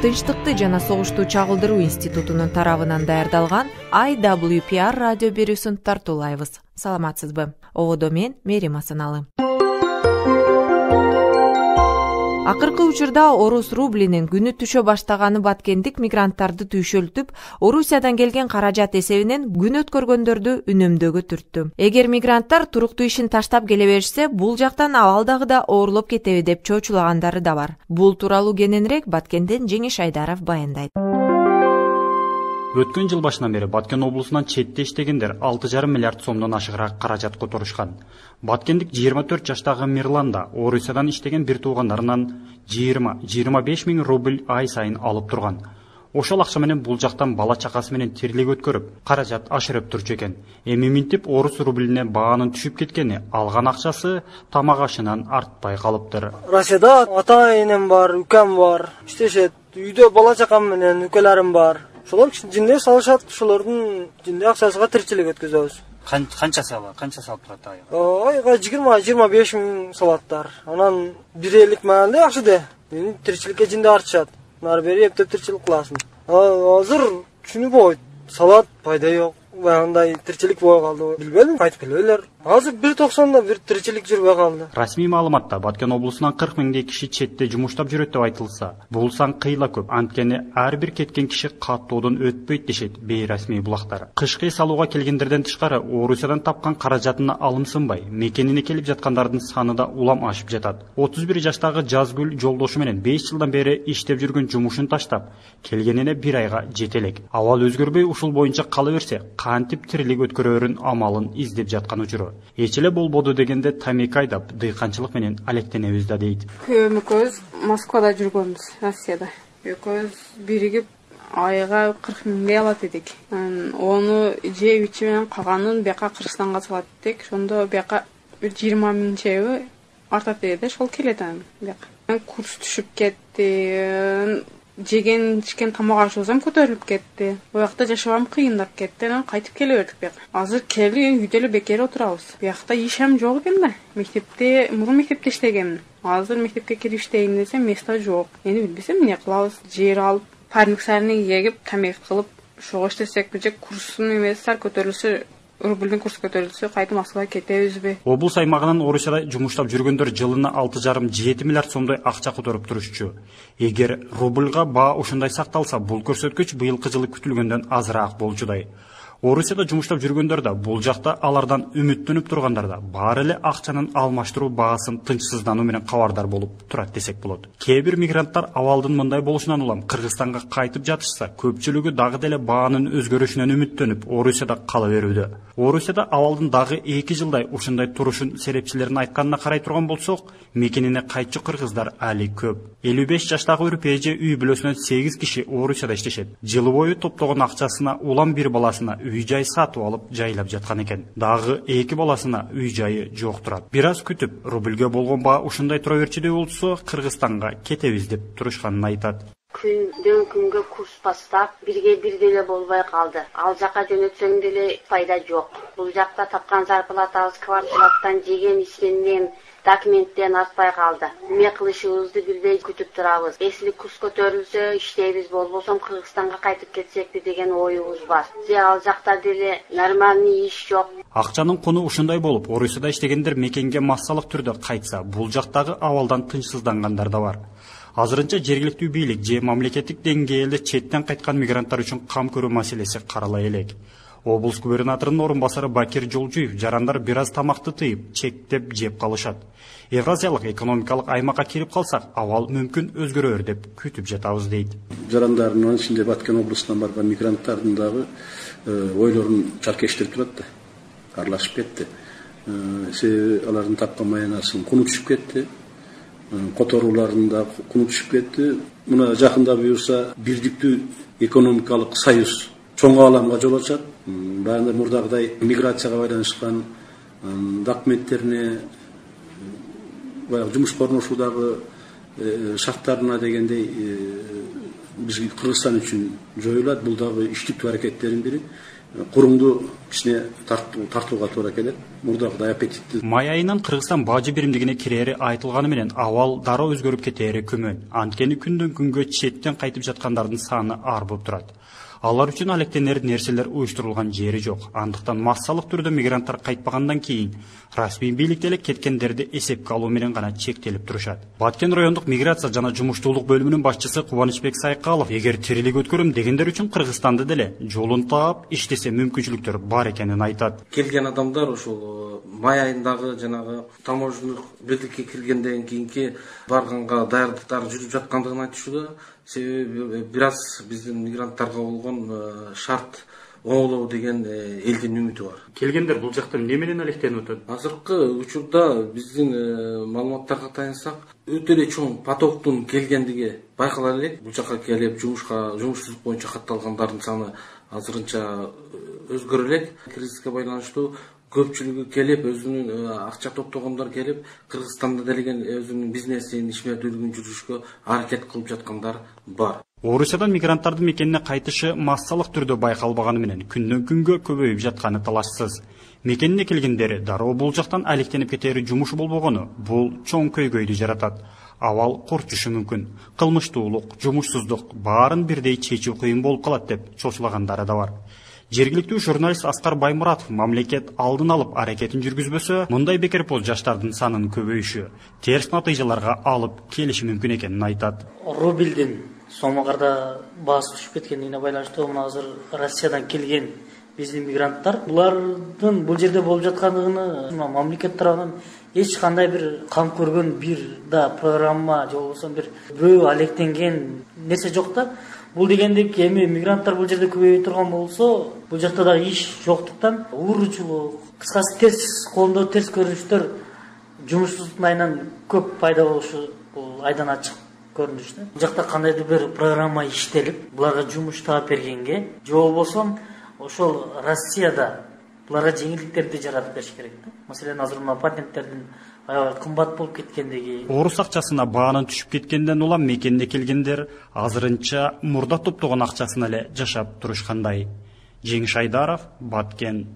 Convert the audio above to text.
Тынчтыкты жана согушту чагылдыруу институтунун тарабынан даярдалган IWPR радио берүүсүн тартуулайбыз. Саламатсызбы? Ободо мен Мерим Асаналы. Акыркы учурда орус рублинин күнү түшө баштаганы баткендик мигранттарды түйшөлтүп, Орусиядан келген каражат эсебинен күн өткөргөндөрдү үнөмдөөгө түрттү. Эгер мигранттар туруктуу ишин таштап келе беришсе, бул жактан абалдагыда оорлоп кетеби деп чоочулагандары да бар. Бул тууралуу кененирээк Баткенден Жеңиш Айдаров баяндайт. Өткөн жыл башынан бери Баткен облусунан четте иштегендер 6,5 миллиард сомдон ашыгыраак каражат которушкан. Баткендик 24 жаштагы Мирлан да Орусиядан иштеген бир туугандарынан 20-25 миң рубль ай сайын алып турган. Ошол акча менен бул жактан бала чакасы менен тирилик өткөрүп, каражат ашырып турчу экен. Эми минтип орус рублине баанын түшүп кеткени, алган акчасы тамак ашынан артпай калыптыр. Россияда ата-энем бар, үкем бар, иштешет. Үйдө бала чакам менен үкелерим бар. Ошолор жинде салышат, ошолордун жинде акчасыга тиричилик өткөзөбүз. Канча салып турат айга? Айга 20-25 миң салаттар. Анан бир элик маалда жакшы де. Тиричиликке жинде артышат. Нары бери эптеп тиричилик кыласың. Азыр түшүнбөйт. Салат пайда жок. Андай тиричилик боло калды. Билбедим, кайтып келбейлер. Азыр 1.90да бир тиричилик жүрбөй калды. Расмий маалыматта Баткен облусунан 40 миңдей киши четте жумуштап жүрөт деп айтылса, бул сан кыйла көп. Анткени ар бир кеткен киши каттоодон өтпөйт дешет бейрасмий булактар. Кышкы салууга келгендерден тышкары Орусиядан тапкан каражатына алымсынбай, мекенине келип жаткандардын саны да улам ашып жатат. 31 жаштагы Жазгүл жолдошу менен 5 жылдан бери иштеп жүргөн жумушун таштап, келгенине 1 айга жете элек. Абал өзгөрбөй ушул боюнча кала берсе, кантип тирилик өткөрөрүн амалын издеп жаткан учуру. Эч эле болбоду дегенде тамек айдап, дыйканчылык менен алектенебиз да дейт. Экөөбүз Москвада жүргөнбүз, Россияда. Экөөбүз биригип айга 40 миңдей алат эдик. Ону жеп ичи менен калганын бияка Кыргызстанга салат эдик. Ошондо бияка бир 20 миң чейби артат эди, ошол келет анан бияка. Курс түшүп кетти. Жеген ичкен тамак ашыбызам көтөрүлүп кетти. Буякта жашабам кыйындап кетти. Анан кайтып келе бердик бияка. Азыр келип үйдө эле бекер отурабыз. Буякта ишем жок экен да. Мектепте, мурун мектепте иштегем. Азыр мектепке кирип иштейин десем, место жок. Эми билбесем эмне кылабыз? Жер алып, парник сарыны эгип, тамек кылып, ошого иштесек же курстун эмеси көтөрүлсө, рубльдин курсу көтөрүлсө, кайта Москвага кетебизби? Облус аймагынан Орусияда жумуштап жүргөндөр жылына 6,5-7 миллиард сомдой акча которуп турушчу. Эгер рубльга баа ушундай сакталса, бул көрсөткүч быйылкы жылы күтүлгөндөн азыраак болчудай. Орусияда жумуштап жүргөндөр да, бул жакта алардан үмүттөнүп тургандар да баары эле акчанын алмаштыруу баасын тынчсыздануу менен кабардар болуп турат десек болот. Кээ бир мигранттар абалдын мындай болушунан улам Кыргызстанга кайтып жатышса, көпчүлүгү дагы деле баанын өзгөрүшүнөн үмүттөнүп, Орусияда кала берүүдө. Орусияда абалдын дагы 2 жылдай ушундай турушун серепчилерин айтканына карай турган болсок, мекенине кайтчу кыргыздар али көп. 55 жаштагы Үрпеже үй бүлөсүнөн 8 киши Орусияда иштешет. Жылы бою топтогон акчасына улам бир баласына үй-жай сатып алып жайлап жаткан экен. Дагы 2 баласына үй-жайы жок турат. Бир аз күтүп, рубльге болгон баа ушундай тура берчүдөй болсо, Кыргызстанга кетебиз деп турушканын айтат. Күндөн күнгө курс бастап, бирге бир деле болбой калды. Ал жака жөнөтсөң деле пайда жок. Бул жакта тапкан зарплатабыз квартираттан, жеген ичкенден, документтен артпай калды. Эмне кылышыбызды билбей күтүп турабыз. Эсли курс көтөрүлсө иштейбиз, болбосом Кыргызстанга кайтып кетсекпи деген оюбуз бар. Ал жакта деле нормальный иш жок. Акчанын куну ушундай болуп, Орусияда иштегендер мекенге массалык түрдө кайтса, бул жактагы абалдан тынчсыздангандар да бар. Азырынча жергиликтүү бийлик же мамлекеттик деңгээлде четтен кайткан мигранттар үчүн кам көрүү маселеси каралай элек. Облус губернаторунун орун басары Бакир Жолжуев жарандар бир аз тамакты тыйып, чектеп жеп калышат. Евразиялык экономикалык аймакка кирип калсак, абал мүмкүн өзгөрөр деп күтүп жатабыз дейт. Жарандардын ичинде Баткен облусунан барган мигранттардын дагы ойлорун чаркештирип турат да. Аралашып кетти. Себеби алардын тапкан маянасынын куну түшүп кетти. Которууларында куну түшүп кетти. Мына жакында буюрса бирдиктүү экономикалык союз чоң ааламга жол ачат. Баягы мурдагыдай миграцияга байланышкан документтерине, баягы жумушка орношуудагы шарттарына дегендей бизге Кыргызстан үчүн жоюлат. Бул дагы иштиктүү аракеттердин бири. куруңду кичине тартууга туура келет. Мурдагыдай аппетиттүү. Май айынан Кыргызстан бажы биримдигине кирери айтылганы менен абал дароо өзгөрүп кетери күмөн. Анткени күндөн күнгө четтен кайтып жаткандардын саны арбып турат. Алар үчүн алектенер нерселер уюштурулган жери жок. Андыктан массалык түрдө мигранттар кайтпагандан кийин расмий бийлик деле кеткендерди эсепке алуу менен гана чектелип турушат. Баткен райондук миграция жана жумуштуулук бөлүмүнүн башчысы Кубанычбек Сайкалов эгер тирилик өткөрөм дегендер үчүн Кыргызстанды деле жолун таап иштесе мүмкүнчүлүктөр бар экенин айтат. Келген адамдар ошол май айындагы жанагы таможенный белдикке киргенден кийинки барганга даярдыктар жүрүп жаткандыгын айтышууда. Себеби бир аз биздин мигранттарга болгон шарт оңолоо деген элдин үмүтү бар. Келгендер бул жакта эмне менен алектенип атат? Азыркы учурда биздин маалыматтарга таянсак, өтө эле чоң потоктун келгендиги байкала элек. Бул жака келип жумушсуздук боюнча катталгандардын саны азырынча өзгөрө элек. Кризиске байланыштуу көпчүлүгү келип, өзүнүн акча топтогондор келип, Кыргызстанда делеген өзүнүн бизнесин, ишмердүүлүгүн жүргүзүшкө аракет кылып жаткандар бар. Орусиядан мигранттардын мекенине кайтышы массалык түрдө байкалбаганы менен күндөн күнгө көбөйүп жатканы талашсыз. Мекенине келгендер дароо бул жактан алектенип кетери жумуш болбогону бул чоң көйгөйдү жаратат. Абал корчушу мүмкүн. Кылмыштуулук, жумушсуздук баарын бирдей чечүү кыйын болуп калат деп чочулагандары да бар. Жергиликтүү журналист Аскар Баймуратов мамлекет алдын алып аракетин жүргүзбөсө, мындай бекерпоз жаштардын санын көбөйүшү терс натыйжаларга алып келиши мүмкүн экенин айтат. Рубльдин сомогорда баасы түшүп кеткендигине байланыштуу мына азыр Россиядан келген биздин мигранттар булардын бул жерде болуп жаткандыгыны мамлекет тарабынан эч кандай бир кам көргөн бир да программа же болбосо бир бирөө алектенген нерсе жок да. Бул дегендик эми мигранттар бул жерде көбөйө турган болсо, бул жакта дагы иш жоктуктан ууручулук, кыскасы терс колдоо терс көрүнүштөр жумушсуздуктун айынан көп пайда болушу бул айдан ачык көрүнүш да. Бул жакта кандайдыр бир программа иштелип, буларга жумуш таап бергенге, же болбосо ошол Россияда буларга жеңилдиктерди жаратып бериш керек да. Маселен, азыр мына патенттердин аябай кымбат болуп кеткендиги. Орус акчасына баанын түшүп кеткенден улам мекенде келгендер азырынча мурда топтогон акчасына эле жашап турушкандай. Жеңиш Айдаров, Баткен.